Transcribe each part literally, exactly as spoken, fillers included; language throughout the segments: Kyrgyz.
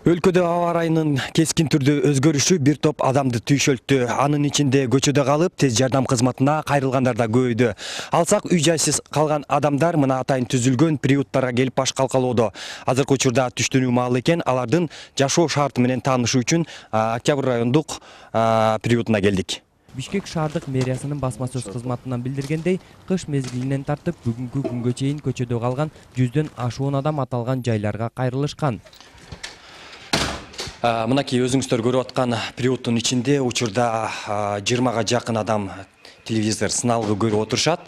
Өлкөдө аба ырайынын кескин түрдө өзгөрүшү бир топ адамды түйшөлттү. Анын ичинде көчөдө калып, тез жардам кызматына кайрылгандар да көбөйдү. Алсак, үй жайсыз калган адамдар мына атайын түзүлгөн приюттарга келип баш калкалоодо. Азыркы учурда түштөнүү маалы экен, алардын жашоо шарты менен таанышуу үчүн Октябрь райондук приютуна келдик. Бишкек шаардык мэриясынын басма сөз кызматынан билдиргендей, кыш мезгилинен тартып бүгүнкү күнгө чейин көчөдө калган жүздөн ашуун адам аталган жайларга кайрылышкан. Мынакей өзүңүздөр көрүп аткан приюттун ичинде учурда жыйырмага жакын адам телевизор сыналгы көрүп отурушат.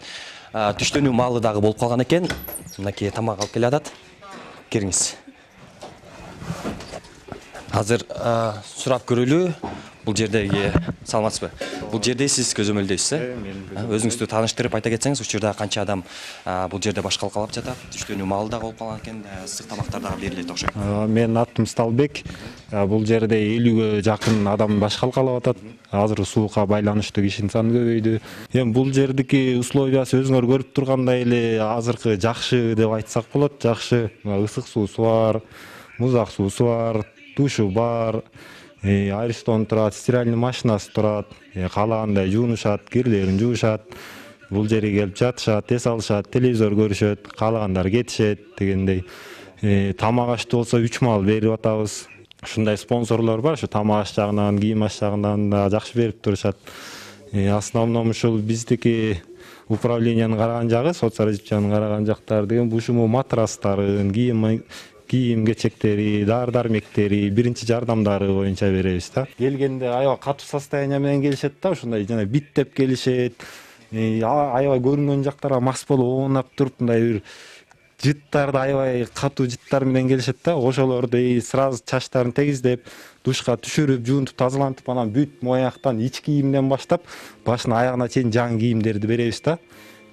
Түштөнүү маалы дагы болуп калган экен. Мынакей тамак алып келе атат. Кириңиз. Азыр сурап көрөлү. Бул жердеги саламатсызбы? Бул жерде сиз көзөмөлдөйсүз, э? Өзүңүздү тааныштырып айта кетсеңиз, учурда канча адам бул жерде баш калкалап жатат? Түштөнүү маалы дагы болуп калган экен, ысык тамактар дагы берилет окшойт. Менин атым Сталбек. Бул жерде элүүгө жакын адам баш калкалап атат. Азыр суукка байланыштуу кишинин саны көбөйдү. Эми бул жердики условиясы өзүңөр көрүп тургандай эле азыркы жакшы деп айтсак болот. Жакшы. Ысык суусу бар, музак суусу бар, душу бар. Аристон турат, стиральный машинасы турат, каалагандай жуунушат, кирлерин жуушат, бул жерге келип жатышат, эс алышат, телевизор көрүшөт, каалагандар кетишет дегендей. Тамак ашты болсо үч маал берип атабыз. Ушундай спонсорлор бар, ушу тамак аш жагынан, кийим аш жагынан да жакшы берип турушат. Основном ушул биздики управлениянын караган жагы, соцразвитиянын караган жактары деген ушул матрастарын, кийим кийим кечектери, дары-дармектери, биринчи жардамдары боюнча беребиз да. Келгенде аябай катуу состояние менен келишет да, ушундай жана биттеп келишет. Аябай көрүнгөн жактарга мас болуп оонап туруп, мындай бир жыттарды аябай катуу жыттар менен келишет да. Ошолорду сразу чачтарын тегиздеп, душка түшүрүп, жуунтуп, тазалантып, анан бүт мояктан ич кийимден баштап, башына аягына чейин жаңы кийимдерди беребиз да.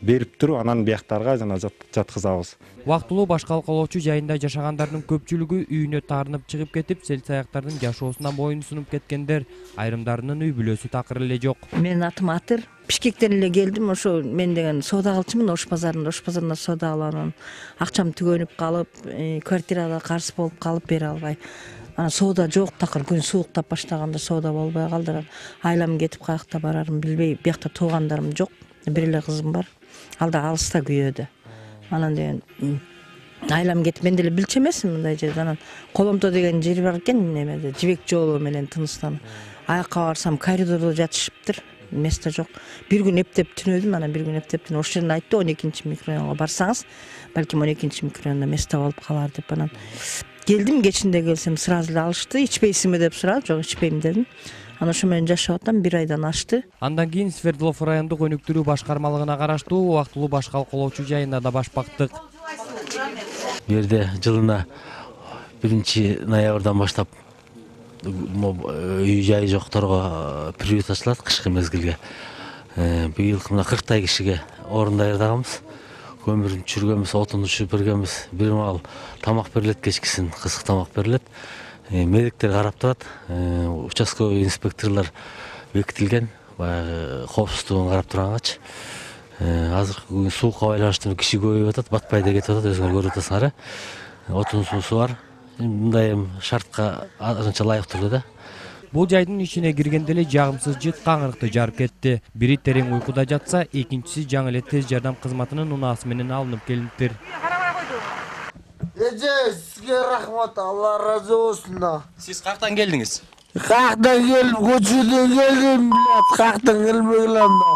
Берип туруп, анан бияктарга жана жаткызабыз. Убактылуу баш калкалоочу жайында жашагандардын көпчүлүгү үйүнө таарынып чыгып кетип, сел-саяктардын жашоосуна моюн сунуп кеткендер, айрымдарынын үй бүлөсү такыр эле жок. Менин атым Атыр. Бишкектен эле келдим. Ошо мен деген соода кылчумун Ош базарында. Ош базарында соода кылып, акчам түгөнүп калып, квартирада карыз болуп калып бере албай. Анан соода жок, такыр күн сууктап баштаганда соода болбой калды. Айлам кетип каякта барарым билбей, биякта туугандарым жок. Бир эле кызым бар. Ал да алыста күйөөдө. Анан деген айлам кетип, мен деле билчү эмесмин мындай жерде. Анан Коломто деген жер бар экен, немеде Жибек жолу менен тыныштан. Аякка барсам коридордо жатышыптыр, место жок. Бир күн эптеп түнөдүм, анан бир күн эптеп түнөдүм. Ош жерин айтты, он экинчи микрорайонго барсаңыз, балким он экинчи микрорайондо место болуп калар деп. Анан келдим, кечинде келсем сразу эле алышты. Ичпейсиңби деп сурады. Жок, ичпейм дедим. Анан ошо менен жашап атам, бир айдан ашты. Андан кийин Свердлов райондук өнүктүрүү башкармалыгына караштуу убактылуу баш калкалоочу жайына да баш бактык. Бу жерде жылына биринчи ноябрдан баштап үй жайы жокторго приют ачылат кышкы мезгилге. Быйыл мына кырктай кишиге орун даярдаганбыз. Көмүрүн түшүргөнбүз, отун түшүрүп бергенбиз. Бир маал тамак берилет, кечкисин кысык тамак берилет. Медиктер карап турат, участковый инспекторлор бекитилген, баягы коопсуздугун карап тургангачы. Азыркы күн суукка байланыштуу киши көбөйүп атат, батпай да кетип атат, өзүңөр көрүп атасыңар, э. Отун суусу бар. Мындай шартка анча ылайыктуу да. Бул жайдын ичине киргенде эле жагымсыз жыт каңырыкты жарып кетти. Бири терең уйкуда жатса, экинчиси жаңы эле тез жардам кызматынын унаасы менен алынып келиптир. Эже, сизге рахмат, Алла разы болсун да. Сиз каяктан келдиңиз? Каяктан келдим, көчөдөн келдим, блядь, каяктан келбей келем да.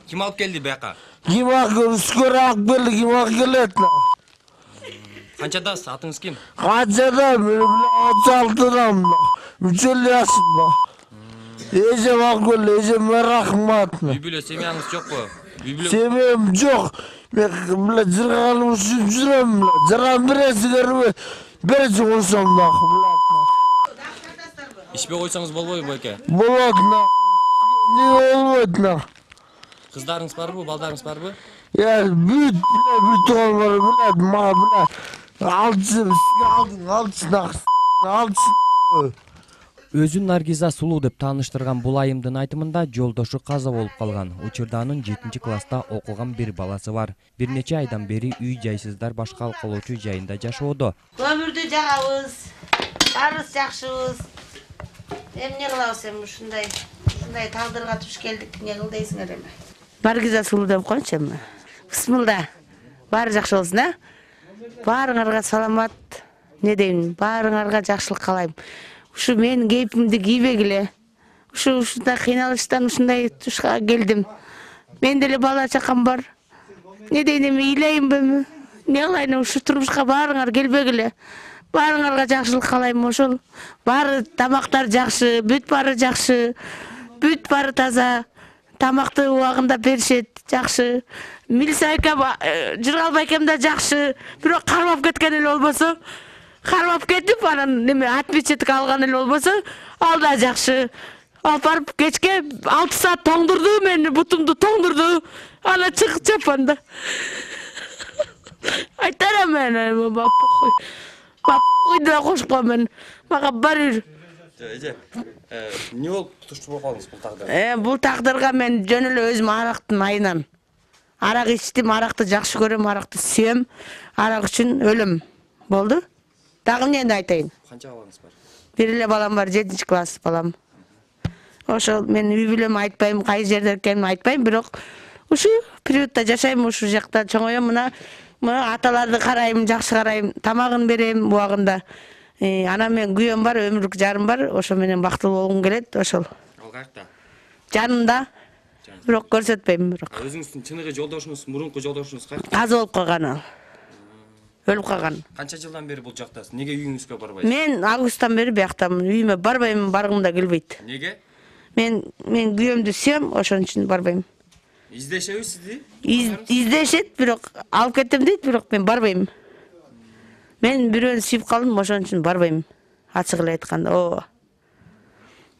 Ким алып келди бияка? Ким алып, Үскөр алып келди, ким алып келет да. Канчадасыз, атыңыз ким? Канчада, мен отуз алтыдамын да. Мүчөл жашым да. Эжем алып келди, эжеме рахмат. Үй бүлө семьяңыз жокпу? Семьям жок. Мен бля жырганым үчүн жүрөм бля. Жырган бересиңерби? Беречи койсом да, бля. Ичпей койсоңуз болбойбу байке? Болот да. Не болбойт да. Кыздарыңыз барбы, балдарыңыз барбы? Я бүт, бля, бүт бар, бля, ма, бля. Алчы, алдың, алчы да. Алчы. Өзүн Наргиза Сулуу деп тааныштырган бул айымдын айтымында жолдошу каза болуп калган. Учурда анын жетинчи класста окуган бир баласы бар. Бир нече айдан бери үй жайсыздар баш калкалоочу жайында жашоодо. Көмүрдү жагабыз. Баарыбыз жакшыбыз. Эмне кылабыз эми ушундай ушундай тагдырга туш келдик. Не кыл дейсиңер эми? Баргиза сулуу деп коюнчу эми. Бисмилла. Баары жакшы болсун, а? Баарыңарга саламат. Не дейм? Баарыңарга жакшылык каалайм. Ушу менин кейпимди кийбегиле. Ушу ушундай кыйналыштан ушундай тушка келдим. Мен деле бала чакам бар. Не дейм эми ыйлайынбы? Не кылайын ушу турмушка баарыңар келбегиле. Баарыңарга жакшылык каалайм ошол. Баары тамактар жакшы, бүт баары жакшы. Бүт баары таза. Тамакты убагында беришет, жакшы. Милсайка Жыргал байкем да жакшы. Бирок кармап кеткен эле болбосо, кармап кетип анан неме отпечаток алган эле болбосо, ал да жакшы. Алып барып кечке алты саат тоңдурду, мени бутумду тоңдурду. Ана чыгып чапанда. Айтарам мен, баппой. Баппой да кошуп коем. Мага барыр. Эже, эмне болуп туштуу болуп калдыңыз бул тагдырга? Э, бул тагдырга мен жөн эле өзүм арактын айынан. Арак ичтим, аракты жакшы көрөм, аракты сүйөм. Арак үчүн өлөм. Болду? Дагы эмнени айтайын? Канча балаңыз бар? Бир эле балам бар, жетинчи класс балам. Ошол мен үй бүлөм айтпайм, кай жерде экенин айтпайм, бирок ушу приютта жашайм, ушу жакта чоңоем, мына мына аталарды карайм, жакшы карайм, тамагын берем убагында. Анан мен күйөөм бар, өмүрлүк жарым бар, ошо менен бактылуу болгум келет, ошол. Ал каякта? Жанымда. Бирок көрсөтпөйм бирок. Өзүңүздүн чыныгы жолдошуңуз, мурунку жолдошуңуз каякта? Каза болуп калган ал. Өлүп калган. Канча жылдан бери бул жактасыз? Неге үйүңүзгө барбайсыз? Мен августтан бери бияктамын. Үйүмө барбайм, баргым да келбейт. Неге? Мен мен күйөөмдү сүйөм, ошон үчүн барбайм. Издешеби сизди? Издешет, бирок алып кетем дейт, бирок мен барбайм. Мен бирөөнү сүйүп калдым, ошон үчүн барбайм. Ачык эле айтканда, ооба.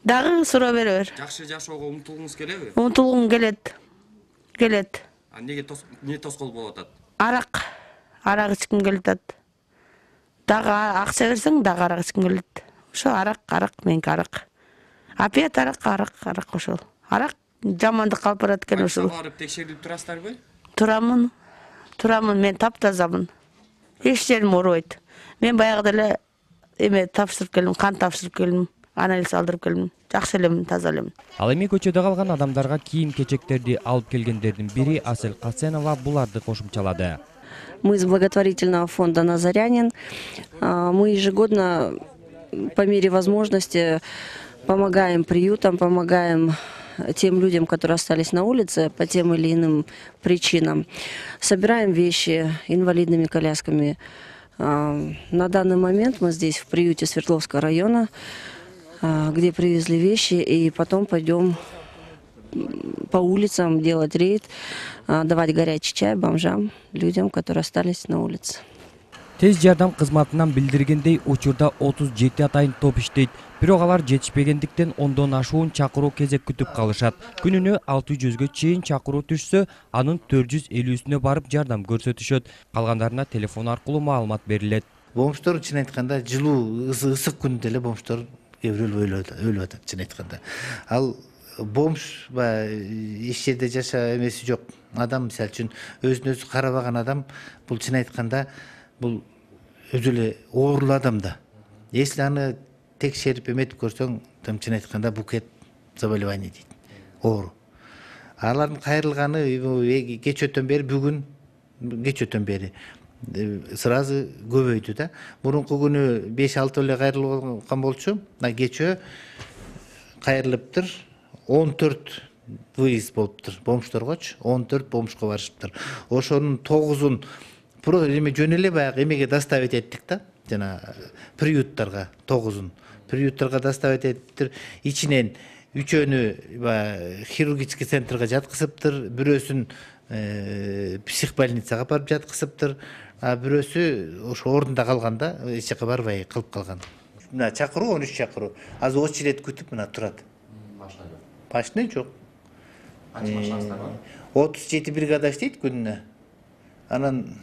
Дагы суроо бере бер. Жакшы жашоого умтулгуңуз келеби? Умтулгум келет. Келет. А неге не тоскоол болуп атат? Арак. Арак ичким келет атат. Дагы акча берсең, дагы арак ичким келет. Ошо арак, арак, меники арак. Опять арак, арак, арак ошол. Арак жамандык калып барат экен ошол. Барып текшерип турасыздарбы? Турамын. Турамын, мен таптазамын. Эч жерим оорубайт. Мен баягыда эле эме тапшырып келдим, кан тапшырып келдим, анализ алдырып келдим. Жакшы элемин, таза элемин. Ал эми көчөдө калган адамдарга кийим-кечектерди алып келгендердин бири Асель Касенова буларды кошумчалады. Мы из благотворительного фонда «Назарянин». Мы ежегодно, по мере возможности, помогаем приютам, помогаем тем людям, которые остались на улице по тем или иным причинам. Собираем вещи инвалидными колясками. На данный момент мы здесь в приюте Свердловского района, где привезли вещи, и потом пойдем по улицам делать рейд, давать горячий чай бомжам, людям, которые остались на улице. Тез жардам кызматынан билдиргендей, учурда отуз жети атайын топ иштейт. Бирок алар жетишпегендиктен ондон ашуун чакыруу кезек күтүп калышат. Күнүнө алты жүзгө чейин чакыруу түшсө, анын төрт жүз элүүсүнө барып жардам көрсөтүшөт. Калгандарына телефон аркылуу маалымат берилет. Бомждор чын айтканда жылуу ысык күндө эле бомждор кээ бирөө өлүп атат, чын айтканда. Ал бомж эч жерде жаша эмеси жок адам, мисалы үчүн өзүн өзү карабаган адам, бул чын айтканда бул өзү эле оорулуу адам да. Если аны текшерип эметип көрсөң, там чын айтканда букет заболевание дейт. Оору. Алардын кайрылганы кеч өтөн бери, бүгүн кеч өтөн бери сразу көбөйдү да. Мурунку күнү беш алты эле кайрылган болчу, кечөө кайрылыптыр. он төрт выезд болуптур бомждоргочу, он төрт бомжго барышыптыр. Ошонун тогузун про эме жөн эле баягы эмеге доставить эттик да, жана приюттарга тогузун. Приюттарга доставить эттиптир. Ичинен үчөөнү хирургический центрге жаткызыптыр, бирөөсүн психбольницага барып жаткызыптыр, а бирөөсү ошо ордунда калганда эч жака барбай калып калган. Мына чакыруу он үч чакыруу. Азыр очередь күтүп мына турат. Машина жок. Канча машинаңыздар бар? отуз жети бригада иштейт күнүнө. Анан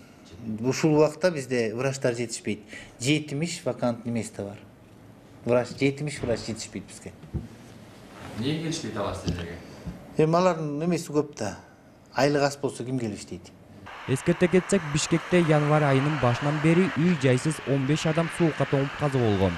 ушул убакта бизде врачтар жетишпейт. жетимиш вакантный место бар. Врач жетимиш врач жетишпейт бизге. Эмне келишпейт алар силерге? Эми алардын эмеси көп да. Айлык аз болсо ким келиш дейт. Эскерте кетсек, Бишкекте январь айынын башынан бери үй жайсыз он беш адам суукка тоңуп каза болгон.